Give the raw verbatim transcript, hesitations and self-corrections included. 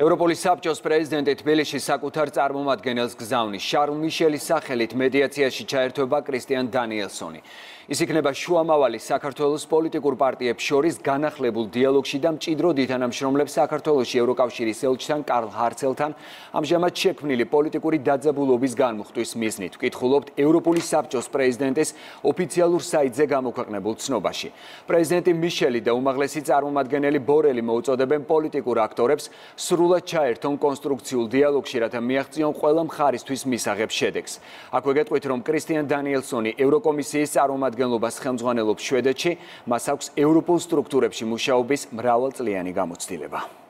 ევროპული საბჭოს პრეზიდენტი თბილისში საკუთარ წარმომადგენელს გზავნის. შარლ მიშელის სახელით მედიაციაში ჩაერთვება კრისტიან დანიელსონი. ის იქნება შუამავალი საქართველოს პოლიტიკურ პარტიებს შორის განახლებულ დიალოგში და მჭიდროდ ითანამშრომლებს საქართველოში ევროკავშირის ელჩთან კარლ ჰარცელთან ამჟამად შექმნილი პოლიტიკური დაძაბულობის განმუხტვის მიზნით. ვკითხულობთ ევროპული საბჭოს პრეზიდენტის ოფიციალურ საიტზე გამოქვეყნებულ ცნობაში. პრეზიდენტი მიშელი და უმაღლესი წარმომადგენელი ბორელი მოუწოდებენ პოლიტიკურ აქტორებს სრულად ჩაერთონ კონსტრუქციულ დიალოგში, რათა მიაღწიონ ყველა მხარისთვის მისაღებ შედეგს. აქვე გეტყვით, რომ კრისტიან დანიელსონი ევროკომისიის წარმომადგენლობას ხელმძღვანელობს შვედეთში, მას აქვს ევროპულ სტრუქტურებში მუშაობის მრავალწლიანი გამოცდილება.